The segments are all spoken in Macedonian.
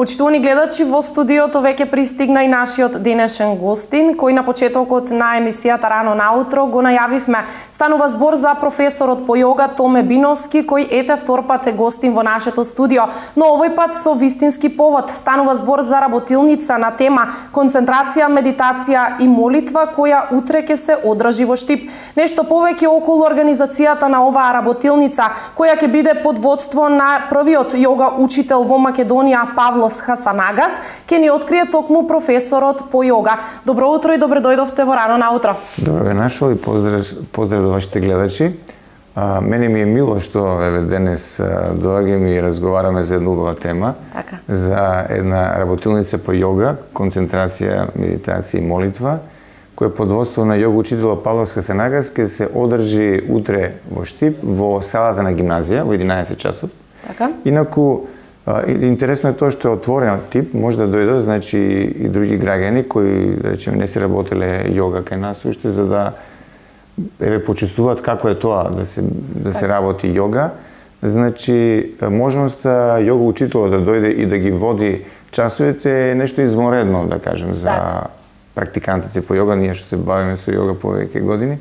Почитувани гледачи, во студиото веќе пристигна и нашиот денешен гостин, кој на почетокот на емисијата Рано наутро го најавивме. Станува збор за професорот по јога Томе Биновски, кој ете втор пат се гостин во нашето студио, но овој пат со вистински повод. Станува збор за работилница на тема концентрација, медитација и молитва, која утре ќе се одржи во Штип. Нешто повеќе околу организацијата на оваа работилница, која ќе биде под водство на првиот јога учител во Македонија Павлос Хасанагас, ќе ни открие токму професорот по јога. Добро утро и добре дојдовте во Рано наутро. Добро ве нашол и поздрав до вашите гледачи. Мене ми е мило што денес доаѓаме и разговараме за една убава тема, за една работилница по јога, концентрација, медитација и молитва, која под водство на јога учителот Павлос Хасанагас ќе се одржи утре во Штип, во салата на гимназија, во 11 часот. Инаку, интересно е тоа што е отворен тип, може да дојдат, значи и други граѓани кои, да речеме, не се работеле јога кај нас уште, за да почувствуваат како е тоа да се работи јога. Значи, можноста јога учителот да дојде и да ги води часовите е нешто извонредно, да кажем, за практикантите по јога, ние што се бавиме со јога повеќе години.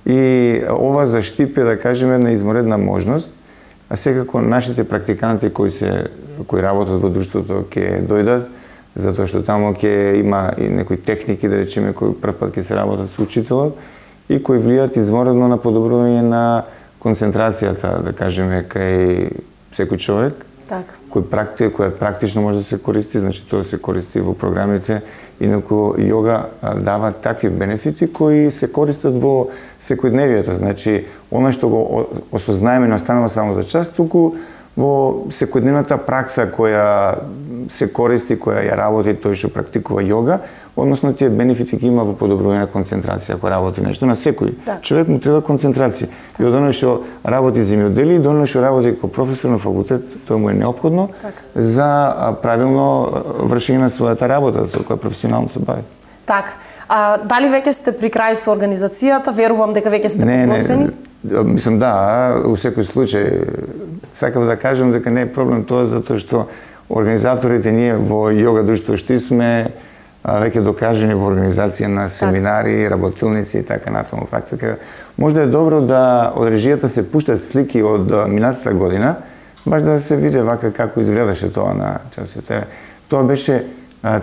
И ова за Штип е, да кажеме, една извонредна можност. А секако нашите практиканти кои работат во друштвото ќе дојдат, затоа што таму ќе има и некои техники, да речеме, кои прв пат ќе се работат со учителот и кои влијаат извонредно на подобрување на концентрацијата, да кажеме, кај секој човек, кој практично може да се користи, значи тоа се користи во програмите, инаку јога дава такви бенефити кои се користат во секојдневието, значи она што го осознаеме не останува само за час, туку во секојдневната пракса која се користи, која ја работи тој што практикува јога, односно тие бенефити ги има во подобрување на концентрација ако работи нешто. На секој човек му треба концентрација. И од оној што работи земјодели, до оној што работи како професор на факултет, тоа му е неопходно за правилно вршење на својата работа, со која професионално се бави. Дали веќе сте при крај со организацијата? Верувам дека веќе сте подготвени? Мислам да, у секој случај сакам да кажам дека не е проблем тоа затоа што организаторите ние во јога друштво Штип сме веќе докажени во организација на семинари, работилници и така натаму практика. Може да е добро да од режијата се пуштат слики од минатата година, баш да се види вака како изгледаше тоа на часовите. Тоа беше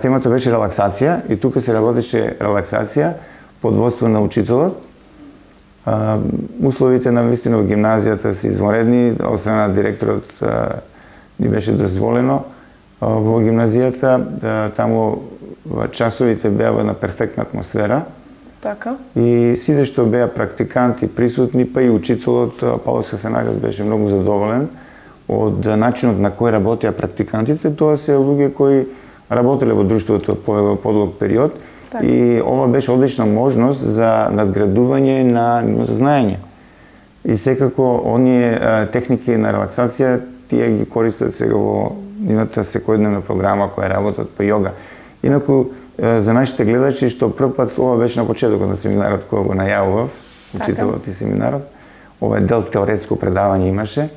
темата беше релаксација и тука се работеше релаксација под водство на учителот. Условите на вистина во гимназијата се извонредни, од страна на директорот ни беше дозволено во гимназијата, таму часовите беа во една перфектна атмосфера. И сите што беа практиканти присутни, па и учителот Павлос Хасанагас беше многу задоволен од начинот на кој работеа практикантите. Тоа се луѓе кои работеле во друштвото по подлог период и ова беше одлична можност за надградување на нивното знаење. И секако оние техники на релаксација тие ги користат сега во нивната секојдневна програма која работат по јога. Инаку за нашите гледачи што прв пат ова беше на почетокот на семинарот кој го најавував, учителот и семинарот, ова е дел теоретско предавање имаше.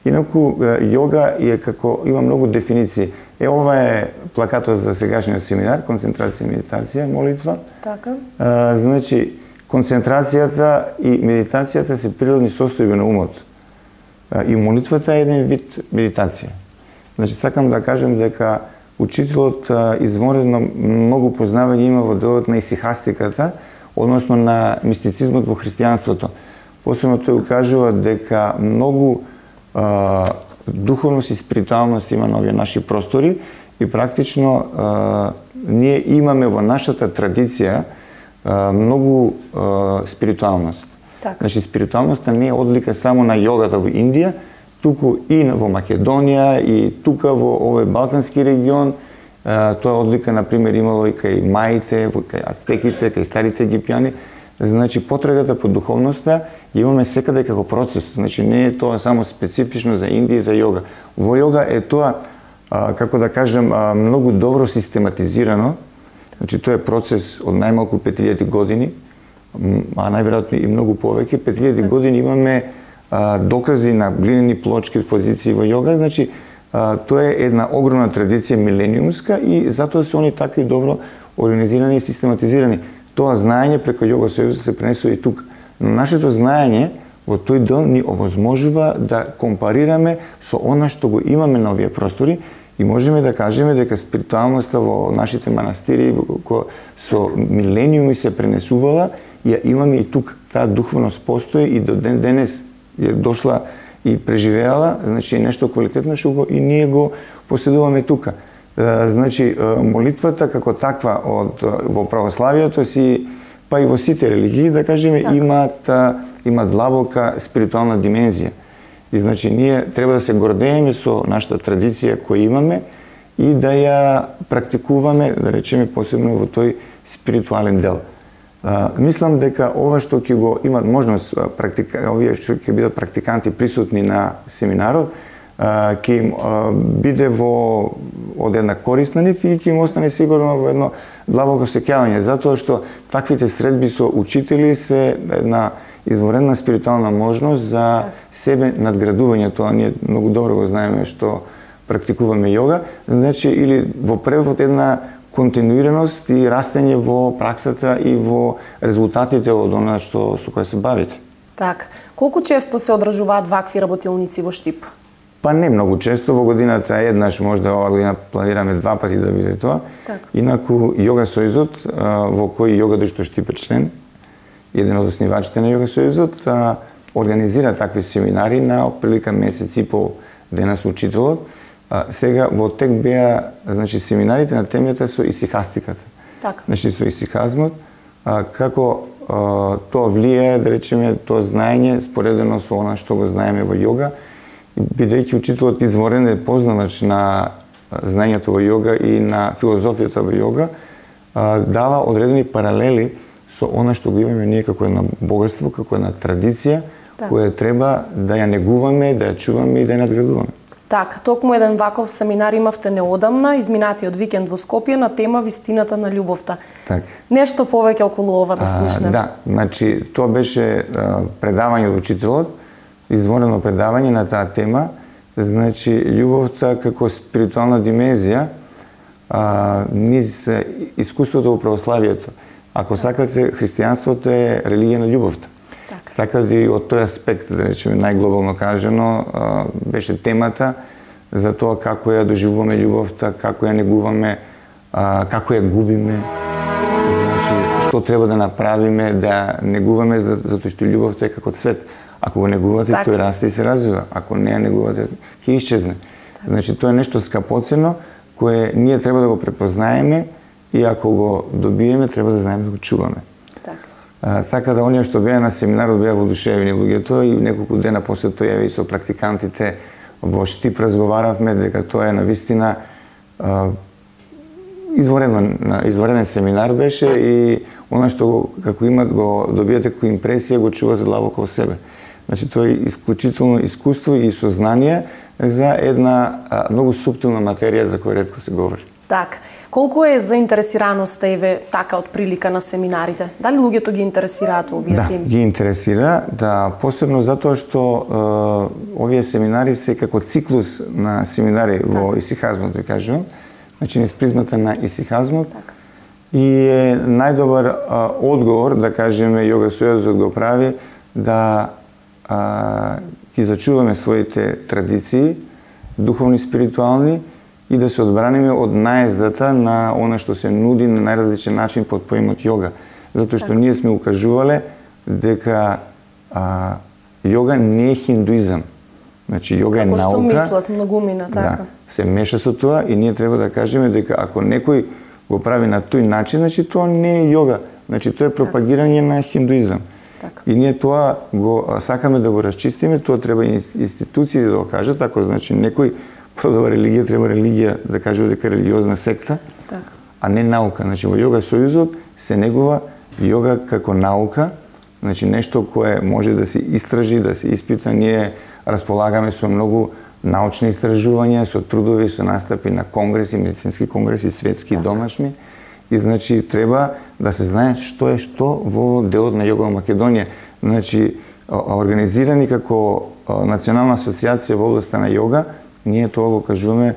Инаку јога е како има многу дефиниции. Ова е плакатот за сегашниот семинар, концентрација, медитација, молитва. Значи, концентрацијата и медитацијата се природни состојби на умот. И молитвата е еден вид медитација. Значи, сакам да кажем дека учителот извонредно многу познавање има во делот на исихастиката, односно на мистицизмот во христијанството. Посебно тој укажува дека многу духовност и спиритуалност има на овие наши простори и практично ние имаме во нашата традиција многу спиритуалност. Значи, спиритуалноста не е одлика само на јогата во Индија, туку и во Македонија, и тука во овој балкански регион. Тоа одлика, например, имало и кај маите, кај ацтеките, кај старите египјани. Значи, потрагата по духовноста имаме секаде како процес. Значи, не е тоа само специфично за Индија и за јога. Во јога е тоа, како да кажем, многу добро систематизирано. Значи, тоа е процес од најмалку 5000 години, а најверојатно и многу повеќе. 5000 години имаме докази на глинени плочки позиции во јога. Значи, тоа е една огромна традиција милениумска и затоа се они така и добро организирани и систематизирани. Тоа знаење преку Йога Сојузот се пренесува и тука. Но нашето знаење во тој дел ни овозможува да компарираме со она што го имаме на овие простори и можеме да кажеме дека спиритуалноста во нашите манастири со милениуми се пренесувала, ја имаме и тук. Таа духовност постои и до ден денес е дошла и преживеала, значи нешто квалитетно што и ние го поседуваме тука. Значи молитвата како таква во православието си, па и во сите религии, да кажеме, има длабока спиритуална димензија. И значи ние треба да се гордееме со нашата традиција која имаме и да ја практикуваме, да речеме, посебно во тој спиритуален дел. Мислам дека ова што ќе го имат можност овие што ќе бидат практиканти присутни на семинарот, ќе им биде од една корист на нив и ќе им остане сигурно во едно длабоко сеќавање, затоа што таквите средби со учители се една изворена спиритуална можност за себе надградување. Тоа ние многу добро го знаеме што практикуваме йога, значи или во превод една континуираност и растење во праксата и во резултатите од она што со кое се бавите. Так, колку често се одржуваат вакви работилници во Штип? Па не многу често, во годината еднаш, можда ова година планираме 2 пати да биде тоа. Так. Инаку Йога Сојузот, во кој Йога Друштво Штип е член, еден од основачите на Йога Сојузот, организира такви семинари на отприлика месец и пол дена со учителот. Сега во тек беа, значи, семинарите на темата со исихастиката. Так. Значи со исихазмот, како тоа влијае, да речеме, тоа знаење споредено со она што го знаеме во йога, бидејќи учителот изворен е познавач на знаењето во йога и на филозофијата во йога, дава одредени паралели со она што го имаме ние како едно богатство, како една традиција, која треба да ја негуваме, да ја чуваме и да ја надградуваме. Так, токму еден ваков семинар имавте неодамна, изминатиот викенд во Скопје, на тема Вистината на љубовта. Так. Нешто повеќе околу ова да слушнеме. Да, значи тоа беше предавање од учителот, изворено предавање на таа тема, значи љубовта како спиритуална димензија низ искуството во православието. Ако сакате, христијанството е религија на љубовта. Така да и од тој аспект, да речеме најглобално кажано, беше темата за тоа како ја доживуваме љубовта, како ја негуваме, како ја губиме, значи што треба да направиме да негуваме, затоа што љубовта е како цвет. Ако го негувате, тој расте и се развива. Ако не ја негувате, ќе исчезне. Значи тоа е нешто скапоцено кое ние треба да го препознаеме и ако го добиеме, треба да знаеме да го чуваме. Така да оние што беа на семинарот беа воодушевени луѓето и неколку дена после тоа и со практикантите во Штип разговаравме дека тоа е навистина извореден семинар беше и она што како имат го добиете како импресија го чувате длабоко во себе. Значи тоа е исклучително искуство и сознание за една многу суптилна материја за која ретко се говори. Так. Колку е заинтересираноста еве така од прилика на семинарите? Дали луѓето ги интересираат овие теми? Да, ги интересира, да, посебно затоа што овие семинари се како циклус на семинари во исихазмот, ви кажувам, значи низ призмата на исихазмот. И е најдобар одговор, да кажеме, Йога Сојузот го прави, да ги зачуваме своите традиции, духовни, спиритуални, и да се одбраниме од наездата на она што се нуди на најразличен начин под поимот йога. Затоа што ние сме укажувале дека йога не е хиндуизам. Значи йога е наука. Како што мислат многумина, така. Да, се меша со тоа и ние треба да кажеме дека ако некој го прави на тој начин, значи тоа не е йога. Значи тоа е пропагирање на хиндуизам. Така. И ние тоа го сакаме да го расчистиме, тоа треба институции да го кажат, ако значи некој продава религија, треба религија да кажува дека е религиозна секта, а не наука. Значи во Йога Сојузот се негува йога како наука, значи нешто кое може да се истражи, да се испита. Ние располагаме со многу научни истражувања, со трудови, со настапи на конгреси, медицински конгреси, светски, домашни. И значи треба да се знае што е што во делот на Йога во Македонија. Значи организирани како Национална асоциација во областа на йога, ние тоа го кажуваме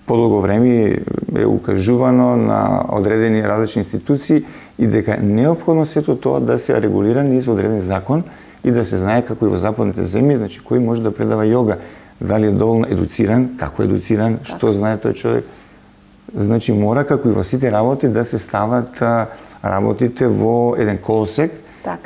подолго време, е укажувано на одредени различни институции и дека неопходно сето тоа да се регулира низ одреден закон и да се знае како и во западните земји, значи кој може да предава јога, дали е доволно едуциран, како е едуциран, што знае тој човек. Значи мора како и во сите работи да се стават работите во еден колосек,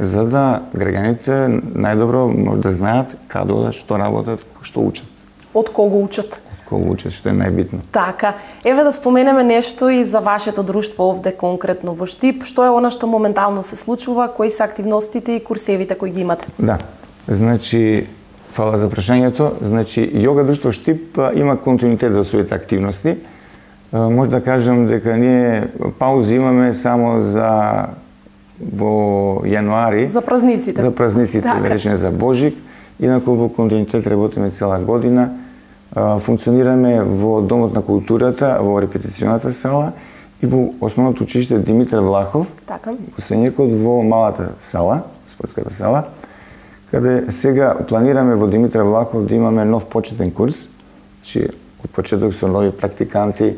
за да граѓаните најдобро може да знаат каде одат, што работат, што учат. Од кого учат? Кого учат, што е најбитно. Така. Еве да споменеме нешто и за вашето друштво овде конкретно во Штип. Што е она што моментално се случува? Кои се активностите и курсевите кои ги имате? Да. Значи, фала за прашањето. Значи, јога друштво Штип има континуитет за своите активности. Може да кажам дека ние паузи имаме само за во јануари. За празниците. За празниците, да речеме за Божик. Инаку во континуитет работиме цела година. Функционираме во Домот на културата, во репетиционата сала и во Основното училиште Димитар Влахов, во Сењекот во малата сала, спортската сала, каде сега планираме во Димитар Влахов да имаме нов почетен курс, значи од почеток со нови практиканти,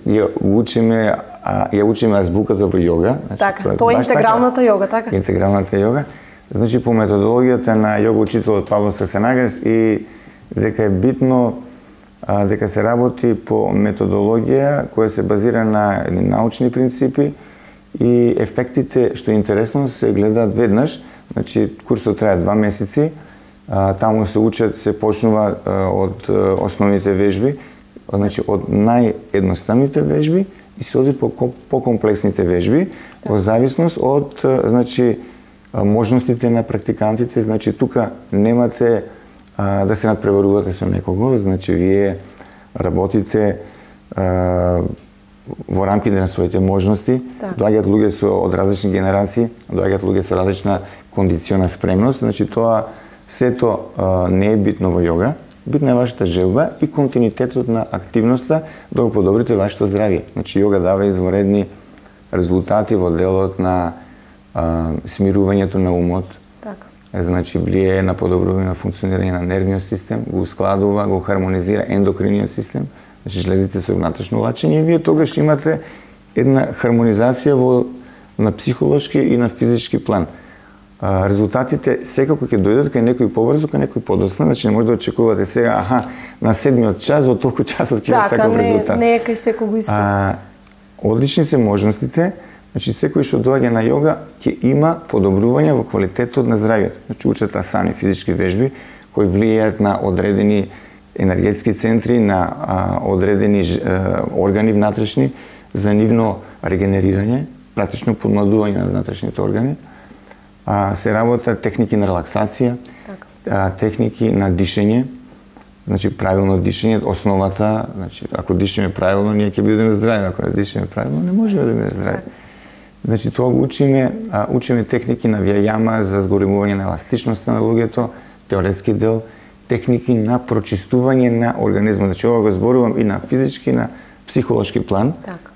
ја учиме азбуката во јога. Така, тоа е интегралната јога, така? Интегралната јога. Значи по методологијата на јога учителот Павло Сасенагас и дека е битно дека се работи по методологија која се базира на научни принципи и ефектите, што е интересно, се гледаат веднаш. Значи курсот трае 2 месеци, таму се учат, се почнува од основните вежби, значи од наједноставните вежби и се оди по комплексните вежби, во зависност од значи можностите на практикантите. Значи тука немате да се надпреварувате со некого, значи вие работите во рамките на своите можности, доаѓаат луѓе од различни генерации, доаѓаат луѓе со различна кондициона спремност, значи тоа сето не е битно во јога, битна е вашата желба и континуитетот на активноста да го подобрите вашето здравје. Значи јога дава извонредни резултати во делот на смирувањето на умот, значи влијае на подобрување на функционирање на нервниот систем, го ускладува, го хармонизира ендокриниот систем, значи жлезите со внатрешно лачење и вие тогаш имате една хармонизација на психолошки и на физички план. Резултатите секако ќе дојдат кај некој побрзо, кај некој подоцна, значи не може да очекувате сега, на 7-миот час, во толку часот ќе има таков резултат. Така, не е кај секого исто. Одлични се можностите. Значи, секој што доаѓа на јога ќе има подобрување во квалитетот на здравјето. Значи, учат асани, физички вежби, кои влијаат на одредени енергетски центри, на одредени органи внатрешни, за нивно регенерирање, практично подмладување на внатрешните органи. Се работат техники на релаксација, техники на дишење, значи правилно дишење, основата, значи ако дишеме правилно, ние ќе бидеме здрави, ако не дишеме правилно, не можеме да бидеме здрави. Значи тоа го учиме техники на вијајама за зголемување на еластичноста на луѓето, теоретски дел, техники на прочистување на организмот. Значи ова го зборувам и на физички, на психолошки план,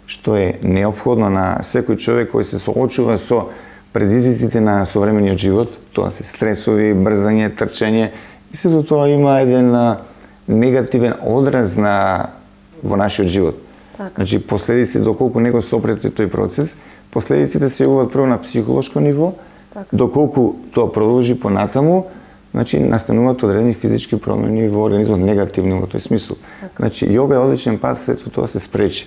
што е неопходно на секој човек кој се соочува со предизвиците на современиот живот. Тоа се стресови, брзање, трчање и сето тоа има еден негативен одраз во нашиот живот. Значи последици доколку не го сопрете тој процес, последиците се јавуваат прво на психолошко ниво, доколку тоа продолжи понатаму, значи настануваат одредени физички промени во организмот, негативни во тој смисол. Значи јога е одличен пат сето тоа се спречи.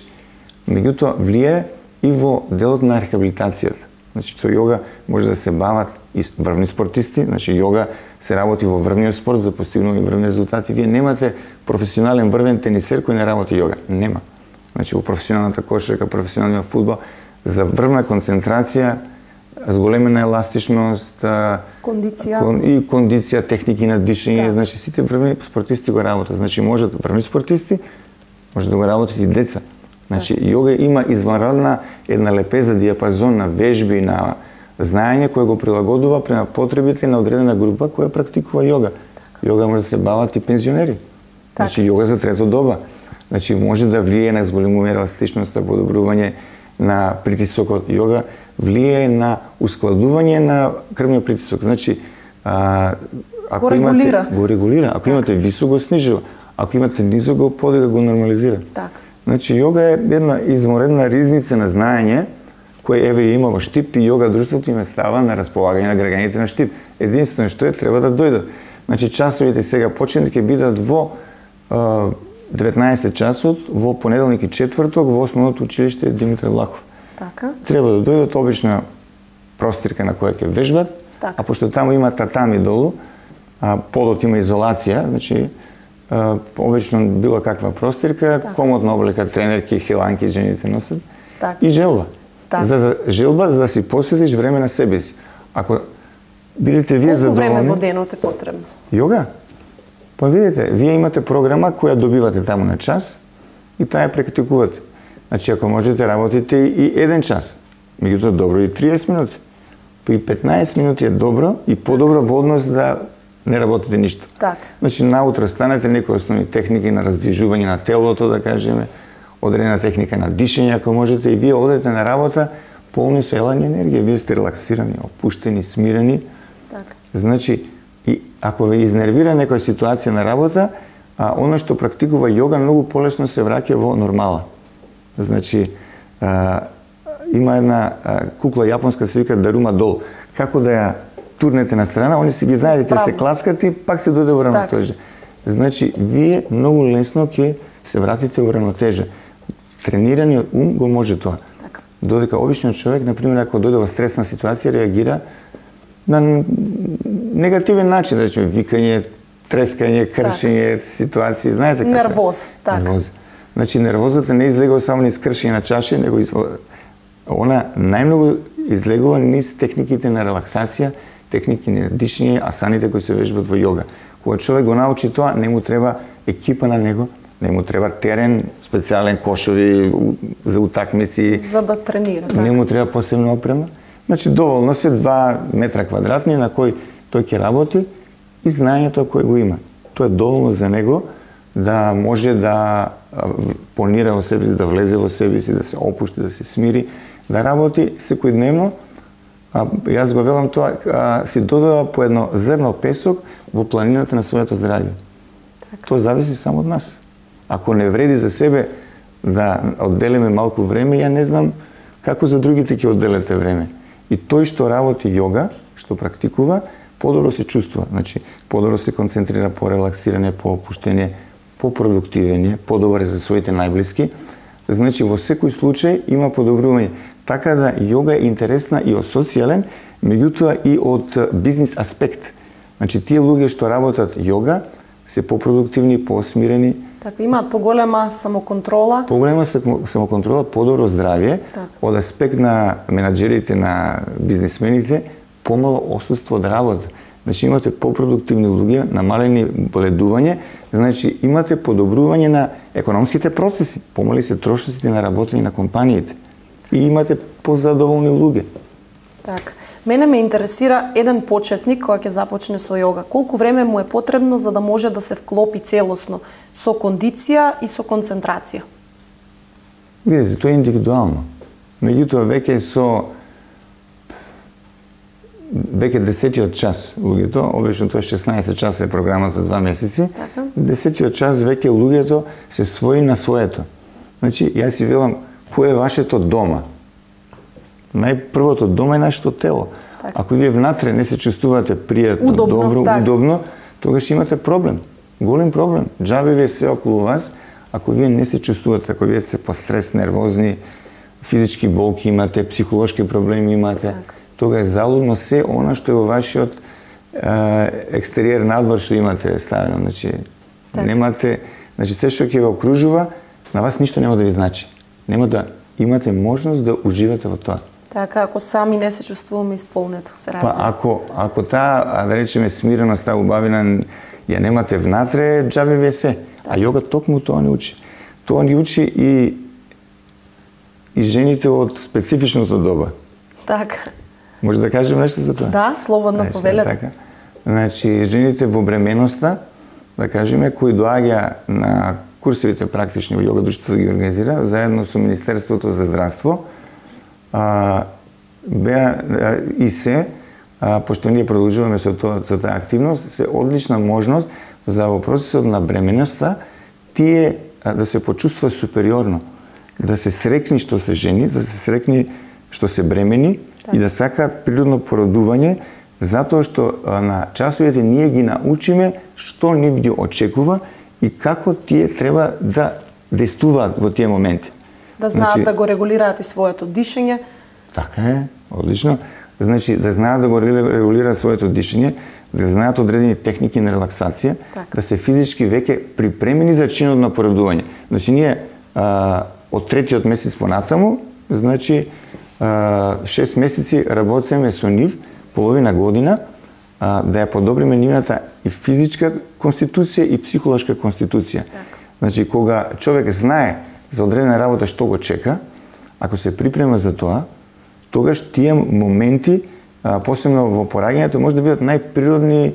Меѓутоа влијае и во делот на рехабилитацијата. Значи со јога може да се бават и врвни спортисти, значи јога се работи во врвниот спорт за постигнување врвни резултати. Вие немате професионален врвен тенисер кој не работи јога. Нема. Значи во професионалната кошарка, професионалниот фудбал, за врвна концентрација, зголемена еластичност, кондиција, техники на дишење, значи сите врвни спортисти го работат. Значи можат врвни спортисти, може да го работат и деца. Значи јога има извонредна една лепеза, диапазон на вежби, на знаење кој го прилагодува према потребите на одредена група која практикува јога. Јога може да се бават и пензионери. Значи јога за трето доба. Значи може да влијае на зголемување еластичноста, подобрување на притисокот. Јога влијае на ускладување на крвниот притисок. Значи ако го регулира. Ако имате висок, го снижува. Ако имате низок, го подига, го нормализира. Така. Значи, јога е една изморедна ризница на знаење, кој еве има во Штип и јога друштвото им става на располагање на граѓаните на Штип. Единствено што треба да дојдат. Значи, часовите сега почнат ќе бидат во 19 часот, во понеделник и четврток, во основното училиште Димитар Влахов. Така. Треба да дојдат обична простирка на која ќе вежбат, а пошто таму има татами долу, а подот има изолација, значи обично било каква простирка, комотна облека, тренерки, хиланки жените носат и желба. За да си посветиш време на себе си. Ако бидете вие задоволни... Колку време во денот е потребно? Јога? Па видите, вие имате програма која добивате таму на час и таа ја практикувате. Значи, ако можете, работите и 1 час. Меѓутоа, добро и 30 минути. Па и 15 минути е добро и подобро во однос да не работите ништо. Така. Значи, наутро станете некои основни техники на раздвижување на телото, да кажеме, одредена техника на дишење, ако можете, и вие одете на работа полни со елање енергија. Вие сте релаксирани, опуштени, смирени. Така. Значи, и ако ве изнервира некоја ситуација на работа, оно што практикува јога многу полесно се враќа во нормала. Значи, има една кукла јапонска се вика Дарума Дол. Како да ја турнете на страна, они си ги знаете, се клацкат и пак се дојде во равнотежа. Значи, вие многу лесно ќе се вратите во равнотежа. Тренираниот ум го може тоа. Додека обичниот човек, например, ако дојде во стресна ситуација, реагира на негативен начин, да речеме, викање, трескање, кршење, ситуации, знаете како? Нервоза, така. Нервоза. Значи, нервозата не излегува само низ кршење на чаше, него она најмногу излегува низ техниките на релаксација, техники на дишење, асаните кои се вежбат во јога. Кога човек го научи тоа, не му треба екипа на него, не му треба терен, специјален кошови за утакмици. За да тренира. Не му треба посебна опрема. Значи, доволно се 2 метра квадратни на кој тој ќе работи и знаењето кој го има. Тоа е доволно за него да може да понира во себе си, да влезе во себе си, да се опушти, да се смири, да работи секојдневно. Јас го велам тоа, си додава по едно зрно песок во планината на своето здравје. Тоа зависи само од нас. Ако не вреди за себе да одделиме малку време, ја не знам како за другите ќе одделете време. И тој што работи јога, што практикува, подобро се чувствува. Значи, подобро се концентрира по релаксирање, по опуштење, по продуктивење, подобро е за своите најблиски. Значи, во секој случај има подобрување. Така да јога е интересна и од социјален, меѓутоа и од бизнис аспект. Значи, тие луѓе што работат јога се попродуктивни, посмирени. Така, имаат поголема самоконтрола. Поголема самоконтрола, подобро здравје, од аспект на менаџерите, на бизнисмените, помало отсуство од работа. Значи, имате попродуктивни луѓе, намалени боледување, значи имате подобрување на економските процеси, помали се трошоците на работење на компаниите и имате позадоволни луѓе. Така. Мене ме интересира еден почетник кој ќе започне со јога. Колку време му е потребно за да може да се вклопи целосно со кондиција и со концентрација? Видите, тоа е индивидуално. Меѓутоа, веќе 10-тиот час луѓето, обично тоа 16 часа е програмата 2 месеци, 10-тиот час веќе луѓето се свои на своето. Значи, јас си велам, кој е вашето дома? Најпрвото дома е нашето тело. Ако вие внатре не се чувствувате пријатно, добро, удобно, тогаш имате проблем. Голем проблем. Џабе ви е се околу вас, ако вие не се чувствувате, ако вие сте пострес, нервозни, физички болки имате, психолошки проблеми имате, тога е залудно се она што е во вашиот екстериер надвор што имате ставено. Значи, немате, значи се што ќе ве окружува, на вас ништо нема да ви значи. Нема да имате можност да уживате во тоа. Така, ако сами не се чувствуваме исполнето, се разбира. Па, ако таа, да речеме, смиреност, таа убавина, ја немате внатре, џабе ви е се. А јога токму тоа не учи. Тоа ни учи и жените од специфичното доба. Така. Може да кажем нешто за тоа? Да, слободно повелете. Така. Значи, жените во бременоста, да кажеме, кои доаѓа на курсовите практични во јога друштвото ги организира, заедно со Министерството за здравство, пошто ние продолжуваме со таа активност, се одлична можност за во процесот на бременоста тие да се почувствува супериорно, да се срекни што се жени, да се срекни што се бремени и да сакаат природно породување, затоа што на часовите ние ги научиме што нив ги очекува и како тие треба да действуваат во тие моменти. Да знаат да го регулираат и своето дишење. Така е, одлично. Значи, да знаат да го регулираат своето дишење, да знаат одредени техники на релаксација, да се физички веќе припремени за чинот на породување. Значи, ние од третиот месец понатаму, значи, 6 месеци работиме со нив, половина година, да ја подобриме нивната и физичка конституција и психолошка конституција. Значи, кога човек знае за одредена работа што го чека, ако се припрема за тоа, тогаш тие моменти, посебно во пораѓањето, може да бидат најприродни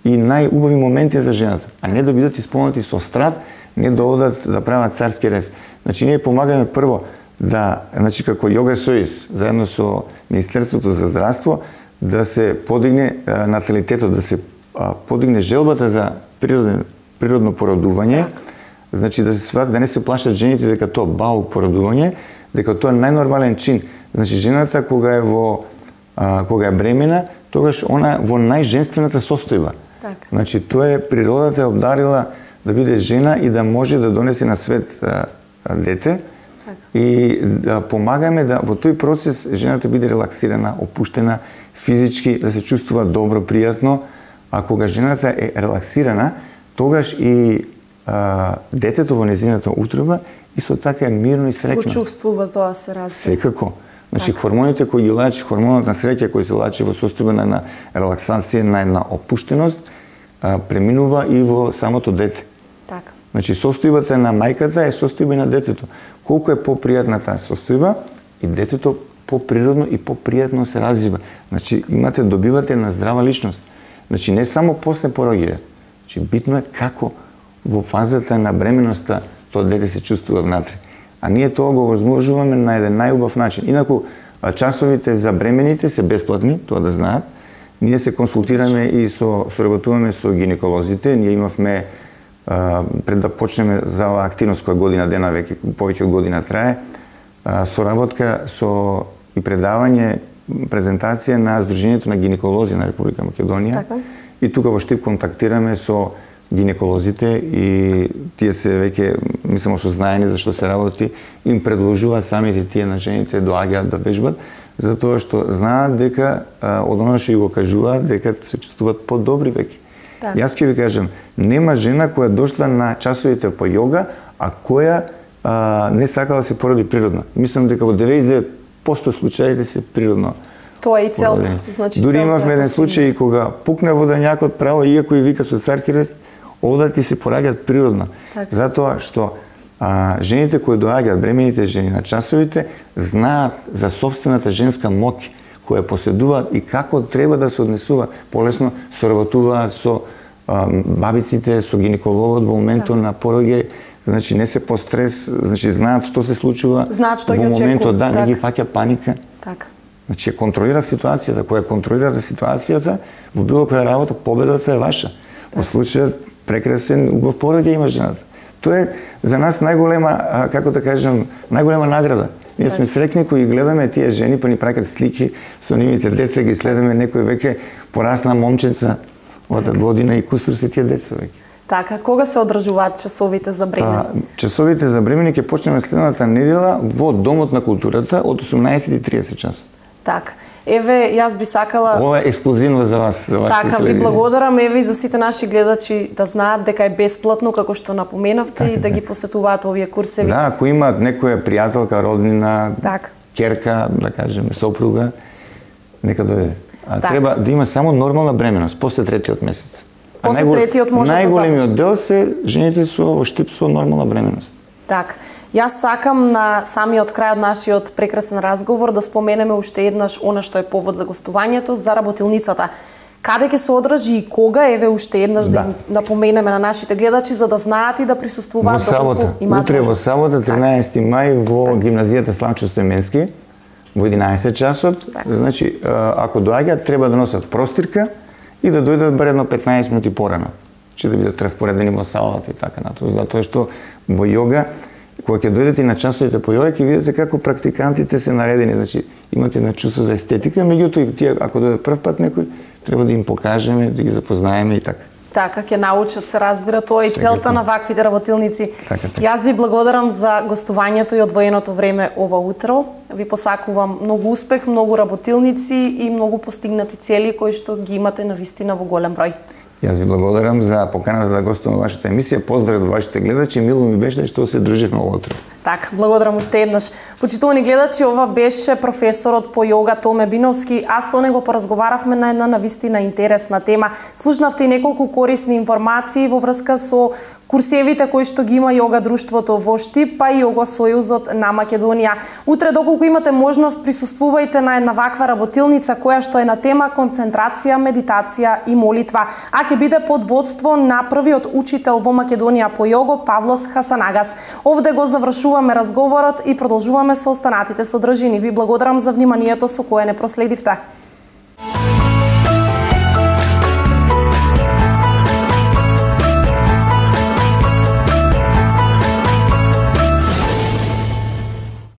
и најубави моменти за жената, а не да бидат исполнети со страв, не да одат да прават царски рез. Значи, ние помагаме прво да, значи, како Йога Сојуз, заедно со Министерството за здравство, да се подигне наталитетот, да се подигне желбата за природно породување, значи да не се плашат жените дека тоа баук породување, дека тоа е најнормален чин. Значи жената кога е бремена, тогаш она во најженствената состојба. Значи тоа е природата е обдарила да биде жена и да може да донесе на свет дете и да помагаме да во тој процес жената биде релаксирана, опуштена, физички да се чувствува добро, пријатно, а кога жената е релаксирана, тогаш и детето во незината утроба исто така е мирно и среќно. Го чувствува тоа, се разбира. Секако. Значи хормоните кои ги лачи, хормонот на среќа кој се лачи во состојба на релаксација, на една опуштеност, преминува и во самото дете. Така. Значи состојбата на мајката е состојба на детето. Колку е попријатна таа состојба и детето поприродно и попријатно се развива. Значи добивате на здрава личност. Значи не само после пороѓање. Значи битно е како во фазата на бременоста тоа дете се чувствува внатре. А ние тоа го возможуваме на еден најубав начин. Инаку часовите за бремените се бесплатни, тоа да знаат. Ние се консултираме и соработуваме со гинеколозите. Ние имавме пред да почнеме за оваа активност која година дена веќе повеќе од година трае, соработка со и предавање, презентација на Сдруженијето на гинеколози на Република Македонија. И тука во Штип контактираме со гинеколозите и тие се веќе, мислам, осознаени за што се работи, им предложуваат самите тие на жените доаѓаат да вежбат, затоа што знаат дека од она што го кажуваат дека се чувствуваат подобри веќе. Јас ќе ви кажам, нема жена која дошла на часовите по јога, а која не сакала да се породи природно. Мислам дека во 99% случаите се природно. Тоа е и целта. Значи, дури имавме еден случај кога пукна водењакот право, иако и вика со царски рез, одат и се пораѓаат природно. Затоа што жените кои доаѓаат, бремените жени на часовите, знаат за собствената женска моќ која поседуваат и како треба да се однесува. Полесно соработуваат со бабиците, со гинекологот во моментот на пороѓај, значи не се по стрес, значи знаат што се случува во моментот, да, не ги фаќа паника. Значи контролира ситуацијата, која контролира ситуацијата, во било која работа победата е ваша. Во случајот прекрасен убав пороѓај има жената. Тоа е за нас најголема, како да кажам, најголема награда. Ние сме среќни кои гледаме тие жени, па ни праќаат слики со нивните деца, ги следиме, некој веќе порасна момченца од година и кусур се тие деца веќе. Така, кога се одржуваат часовите за бремени? Часовите за бремени ќе почнеме следната недела во Домот на културата од 18:30 часот. Така. Еве, јас би сакала... Ова е ексклузивно за вас, за вашите телевизија. Така, ви благодарам, еве, и за сите наши гледачи да знаат дека е бесплатно, како што напоменавте, и да ги посетуваат овие курсеви. Да, ако имаат некоја пријателка, роднина, керка, да кажеме, сопруга, нека дојде. Треба да има само нормална бременост, после третиот месец. После третиот може да започне. Најголемиот дел се жените во Штип со нормална бременост. Така. Јас сакам на самиот крај од нашиот прекрасен разговор да споменеме уште еднаш она што е повод за гостувањето, за работилницата. Каде ќе се одржи и кога, еве уште еднаш да им напоменеме на нашите гледачи за да знаат и да присуствуваат доколку имаат. Утре во сабота 13 мај во гимназијата Славчо Стојменски во 11 часот. Значи ако доаѓаат треба да носат простирка и да дојдат барем 15 минути порано. че да бидат распоредени во салата и така натаму. Затоа што во јога, кога ќе дојдете на часовите по јога, ќе видите како практикантите се наредени, значи имате на чувство за естетика, меѓутоа и тие ако дојде прв пат некој, треба да им покажеме, да ги запознаеме и така. Така, ќе научат, се разбира, тоа и целта на ваквите работилници. Така. Јас ви благодарам за гостувањето и одвоеното време ова утро. Ви посакувам многу успех, многу работилници и многу постигнати цели кои што ги имате навистина во голем број. Јас ви благодарам за поканата да гостувам во вашата емисија. Поздрав до вашите гледачи. Мило ми беше што се друживме ова утро. Така, благодарам уште еднаш. Почитувани гледачи, ова беше професорот по јога Томе Биновски, а со него поразговаравме на една навистина интересна тема. Слушнавте и неколку корисни информации во врска со курсевите кои што ги има јога друштвото во Штип, па и јога сојузот на Македонија. Утре, доколку имате можност, присуствувајте на една ваква работилница која што е на тема концентрација, медитација и молитва, а ќе биде под водство на првиот учител во Македонија по јого Павлос Хасанагас. Овде го завршуваме разговорот и продолжуваме со останатите содржини. Ви благодарам за вниманието со кое не проследивте.